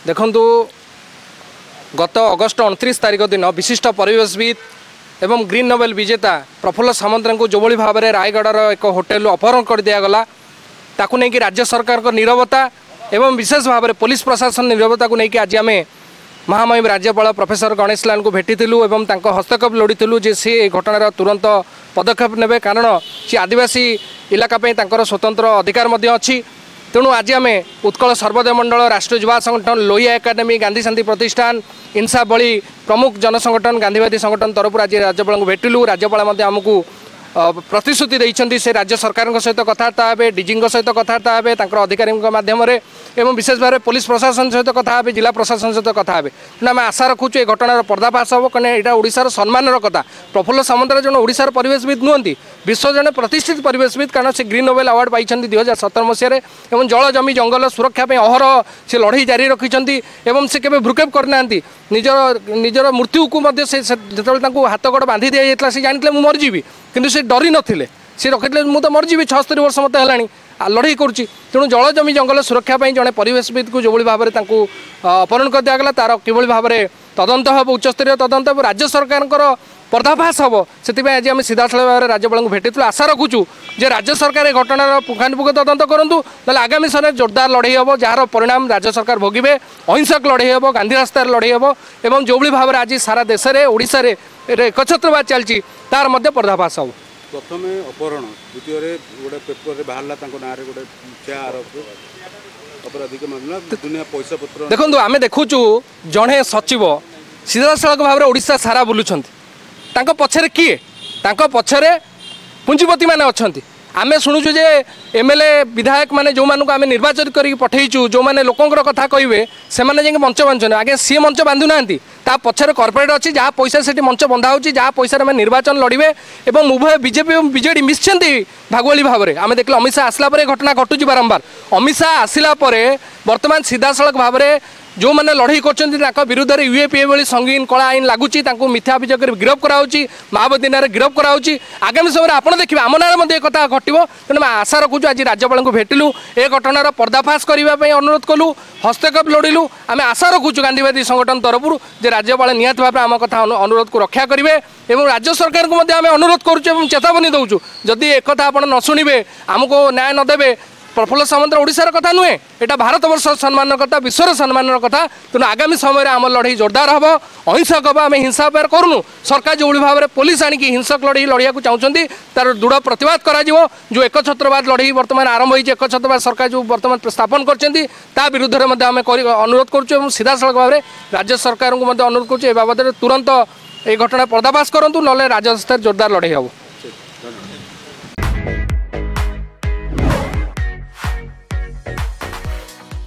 ଦେଖନ୍ତୁ, ଗତ ଅଗଷ୍ଟ 29 ତାରିଖ ଦିନ ବିଶିଷ୍ଟ ପରିବେଶବିତ୍ ଏବଂ ଗ୍ରୀନ୍ ନୋବେଲ ବିଜେତା ପ୍ରଫୁଲ୍ଲ ସାମନ୍ତରାଙ୍କୁ ଯେଉଁଭଳି ଭାବରେ ରାୟଗଡ଼ାର ଏକ ହୋଟେଲରୁ ଅପହରଣ କରିଦିଆଗଲା, ତାକୁ ନେଇକି ରାଜ୍ୟ ସରକାରଙ୍କ ନିରବତା ଏବଂ ବିଶେଷ ଭାବରେ ପୋଲିସ ପ୍ରଶାସନ ନିରବତାକୁ ନେଇକି ଆଜି ଆମେ ମହାମହିମ ରାଜ୍ୟପାଳ ପ୍ରଫେସର ଗଣେଶ ଲାଲଙ୍କୁ ଭେଟିଥିଲୁ ଏବଂ ତାଙ୍କ ହସ୍ତକ୍ଷେପ ଲୋଡ଼ିଥିଲୁ ଯେ ସେ ଏ ଘଟଣାର ତୁରନ୍ତ ପଦକ୍ଷେପ ନେବେ, କାରଣ ସେ ଆଦିବାସୀ ଇଲାକା ପାଇଁ ତାଙ୍କର ସ୍ୱତନ୍ତ୍ର ଅଧିକାର ମଧ୍ୟ ଅଛି। ତେଣୁ ଆଜି ଆମେ ଉତ୍କଳ ସର୍ବୋଦୟ ମଣ୍ଡଳ, ରାଷ୍ଟ୍ରୀୟ ଯୁବା ସଂଗଠନ, ଲୋହିଆ ଏକାଡେମୀ, ଗାନ୍ଧୀ ଶାନ୍ତି ପ୍ରତିଷ୍ଠାନ, ଇନସାଫ ଭଳି ପ୍ରମୁଖ ଜନସଂଗଠନ, ଗାନ୍ଧୀବାଦୀ ସଂଗଠନ ତରଫରୁ ଆଜି ରାଜ୍ୟପାଳଙ୍କୁ ଭେଟିଲୁ। ରାଜ୍ୟପାଳ ମଧ୍ୟ ଆମକୁ ପ୍ରତିଶ୍ରୁତି ଦେଇଛନ୍ତି, ସେ ରାଜ୍ୟ ସରକାରଙ୍କ ସହିତ କଥାବାର୍ତ୍ତା ହେବେ, ଡିଜିଙ୍କ ସହିତ କଥାବାର୍ତ୍ତା ହେବେ ତାଙ୍କର ଅଧିକାରୀଙ୍କ ମାଧ୍ୟମରେ, ଏବଂ ବିଶେଷ ଭାବରେ ପୋଲିସ ପ୍ରଶାସନ ସହିତ କଥା ହେବେ, ଜିଲ୍ଲା ପ୍ରଶାସନ ସହିତ କଥା ହେବେ। ତେଣୁ ଆମେ ଆଶା ରଖୁଛୁ ଏ ଘଟଣାର ପର୍ଦ୍ଦାଫାଶ ହେବ, କାରଣ ଏଇଟା ଓଡ଼ିଶାର ସମ୍ମାନର କଥା। ପ୍ରଫୁଲ୍ଲ ସାମନ୍ତରାୟ ଜଣେ ଓଡ଼ିଶାର ପରିବେଶବିତ୍ ନୁହନ୍ତି, ବିଶ୍ୱ ଜଣେ ପ୍ରତିଷ୍ଠିତ ପରିବେଶବିତ୍, କାରଣ ସେ ଗ୍ରୀନ୍ ନୋବେଲ ଆୱାର୍ଡ଼ ପାଇଛନ୍ତି 2017 ମସିହାରେ ଏବଂ ଜଳ, ଜମି, ଜଙ୍ଗଲ ସୁରକ୍ଷା ପାଇଁ ଅହରହ ସେ ଲଢ଼େଇ ଜାରି ରଖିଛନ୍ତି ଏବଂ ସେ କେବେ ଭ୍ରୁକ୍ଷେପ କରିନାହାନ୍ତି। ନିଜର ମୃତ୍ୟୁକୁ ମଧ୍ୟ ସେ ଯେତେବେଳେ ତାଙ୍କୁ ହାତ ଗୋଡ଼ ବାନ୍ଧି ଦିଆଯାଇଥିଲା, ସେ ଜାଣିଥିଲେ ମୁଁ ମରିଯିବି, କିନ୍ତୁ ସେ ଡରି ନଥିଲେ। ସେ ରଖିଥିଲେ ମୁଁ ତ ମରିଯିବି, 76 ବର୍ଷ ମୋତେ ହେଲାଣି, ଲଢ଼େଇ କରୁଛି। ତେଣୁ ଜଳ, ଜମି, ଜଙ୍ଗଲ ସୁରକ୍ଷା ପାଇଁ ଜଣେ ପରିବେଶବିତ୍କୁ ଯେଉଁଭଳି ଭାବରେ ତାଙ୍କୁ ଅପହରଣ କରିଦିଆଗଲା, ତାର କିଭଳି ଭାବରେ ତଦନ୍ତ ହେବ, ଉଚ୍ଚସ୍ତରୀୟ ତଦନ୍ତ ହେବ, ରାଜ୍ୟ ସରକାରଙ୍କର ପର୍ଦ୍ଦାଫାଶ ହେବ, ସେଥିପାଇଁ ଆଜି ଆମେ ସିଧାସଳଖ ଭାବରେ ରାଜ୍ୟପାଳଙ୍କୁ ଭେଟିଥିଲୁ। ଆଶା ରଖୁଛୁ ଯେ ରାଜ୍ୟ ସରକାର ଏ ଘଟଣାର ପୁଙ୍ଖାନୁପୁଙ୍ଖ ତଦନ୍ତ କରନ୍ତୁ, ନହେଲେ ଆଗାମୀ ସମୟରେ ଜୋରଦାର ଲଢ଼େଇ ହେବ, ଯାହାର ପରିଣାମ ରାଜ୍ୟ ସରକାର ଭୋଗିବେ। ଅହିଂସକ ଲଢ଼େଇ ହେବ, ଗାନ୍ଧୀ ରାସ୍ତାରେ ଲଢ଼େଇ ହେବ ଏବଂ ଯେଉଁଭଳି ଭାବରେ ଆଜି ସାରା ଦେଶରେ, ଓଡ଼ିଶାରେ ଏକଛତ୍ରବାଦ ଚାଲିଛି, ତାର ମଧ୍ୟ ପର୍ଦ୍ଦାଫାଶ ହେବ। ପ୍ରଥମେ ଅପହରଣ, ଦ୍ୱିତୀୟରେ ଗୋଟେ ପେପରରେ ବାହାରିଲା ତାଙ୍କ ନାଁରେ ଗୋଟେ ମିଥ୍ୟା ଆରୋପ, ଅପରାଧିକ ମାମଲା, ଦୁନିଆ ପଇସା ପତ୍ର। ଦେଖନ୍ତୁ, ଆମେ ଦେଖୁଛୁ ଜଣେ ସଚିବ ସିଧାସଳଖ ଭାବରେ ଓଡ଼ିଶା ସାରା ବୁଲୁଛନ୍ତି। ତାଙ୍କ ପଛରେ କିଏ? ତାଙ୍କ ପଛରେ ପୁଞ୍ଜିପତିମାନେ ଅଛନ୍ତି। ଆମେ ଶୁଣୁଛୁ ଯେ ଏମ୍ଏଲ୍ଏ, ବିଧାୟକ ମାନେ ଯେଉଁମାନଙ୍କୁ ଆମେ ନିର୍ବାଚିତ କରିକି ପଠେଇଛୁ, ଯେଉଁମାନେ ଲୋକଙ୍କର କଥା କହିବେ, ସେମାନେ ଯାଇକି ମଞ୍ଚ ବାନ୍ଧୁଛନ୍ତି। ଆଜ୍ଞା, ସିଏ ମଞ୍ଚ ବାନ୍ଧୁନାହାନ୍ତି, ତା ପଛରେ କର୍ପୋରେଟ୍ ଅଛି, ଯାହା ପଇସା ସେଠି ମଞ୍ଚ ବନ୍ଧା ହେଉଛି, ଯାହା ପଇସାରେ ଆମେ ନିର୍ବାଚନ ଲଢ଼ିବେ। ଏବଂ ଉଭୟ ବିଜେପି ଏବଂ ବିଜେଡ଼ି ମିଶିଛନ୍ତି ଭାଗୁଆଳି ଭାବରେ। ଆମେ ଦେଖିଲେ ଅମିତ ଶାହା ଆସିଲା ପରେ ଘଟଣା ଘଟୁଛି ବାରମ୍ବାର। ଅମିତ ଶାହା ଆସିଲା ପରେ ବର୍ତ୍ତମାନ ସିଧାସଳଖ ଭାବରେ ଯେଉଁମାନେ ଲଢ଼େଇ କରୁଛନ୍ତି ତାଙ୍କ ବିରୁଦ୍ଧରେ ୟୁଏପିଏ ଭଳି ସଙ୍ଗୀନ କଳା ଆଇନ ଲାଗୁଛି, ତାଙ୍କୁ ମିଥ୍ୟା ଅଭିଯୋଗରେ ଗିରଫ କରାହେଉଛି, ମାଓବାଦୀ ନାଁରେ ଗିରଫ କରାହେଉଛି। ଆଗାମୀ ସମୟରେ ଆପଣ ଦେଖିବେ ଆମ ନାଁରେ ମଧ୍ୟ ଏ କଥା ଘଟିବ। ତେଣୁ ଆମେ ଆଶା ରଖୁଛୁ, ଆଜି ରାଜ୍ୟପାଳଙ୍କୁ ଭେଟିଲୁ, ଏ ଘଟଣାର ପର୍ଦ୍ଦାଫାଶ କରିବା ପାଇଁ ଅନୁରୋଧ କଲୁ, ହସ୍ତକ୍ଷେପ ଲୋଡ଼ିଲୁ। ଆମେ ଆଶା ରଖୁଛୁ ଗାନ୍ଧୀବାଦୀ ସଂଗଠନ ତରଫରୁ ଯେ ରାଜ୍ୟପାଳ ନିହାତି ଭାବରେ ଆମ କଥା ଅନୁରୋଧକୁ ରକ୍ଷା କରିବେ ଏବଂ ରାଜ୍ୟ ସରକାରଙ୍କୁ ମଧ୍ୟ ଆମେ ଅନୁରୋଧ କରୁଛୁ ଏବଂ ଚେତାବନୀ ଦେଉଛୁ, ଯଦି ଏକଥା ଆପଣ ନ ଶୁଣିବେ, ଆମକୁ ନ୍ୟାୟ ନ ଦେବେ, ପ୍ରଫୁଲ୍ଲ ସାମନ୍ତରାୟ ଓଡ଼ିଶାର କଥା ନୁହେଁ, ଏଇଟା ଭାରତବର୍ଷର ସମ୍ମାନର କଥା, ବିଶ୍ୱର ସମ୍ମାନର କଥା। ତେଣୁ ଆଗାମୀ ସମୟରେ ଆମ ଲଢ଼େଇ ଜୋରଦାର ହେବ, ଅହିଂସକ ହେବ। ଆମେ ହିଂସା ବ୍ୟବହାର କରୁନୁ। ସରକାର ଯେଉଁଭଳି ଭାବରେ ପୋଲିସ ଆଣିକି ହିଂସକ ଲଢ଼େଇ ଲଢ଼ିବାକୁ ଚାହୁଁଛନ୍ତି, ତାର ଦୃଢ଼ ପ୍ରତିବାଦ କରାଯିବ। ଯେଉଁ ଏକଛତ୍ରବାଦ ଲଢ଼େଇ ବର୍ତ୍ତମାନ ଆରମ୍ଭ ହୋଇଛି, ଏକଛତ୍ରବାଦ ସରକାର ଯେଉଁ ବର୍ତ୍ତମାନ ସ୍ଥାପନ କରିଛନ୍ତି, ତା ବିରୁଦ୍ଧରେ ମଧ୍ୟ ଆମେ ଅନୁରୋଧ କରୁଛୁ ଏବଂ ସିଧାସଳଖ ଭାବରେ ରାଜ୍ୟ ସରକାରଙ୍କୁ ମଧ୍ୟ ଅନୁରୋଧ କରୁଛୁ ଏ ବାବଦରେ ତୁରନ୍ତ এই ଘଟଣା ପର୍ଦ୍ଦାଫାଶ କରନ୍ତୁ, ନହେଲେ ରାଜରାସ୍ତାରେ ଜୋରଦାର ଲଢ଼େଇ ହେବ।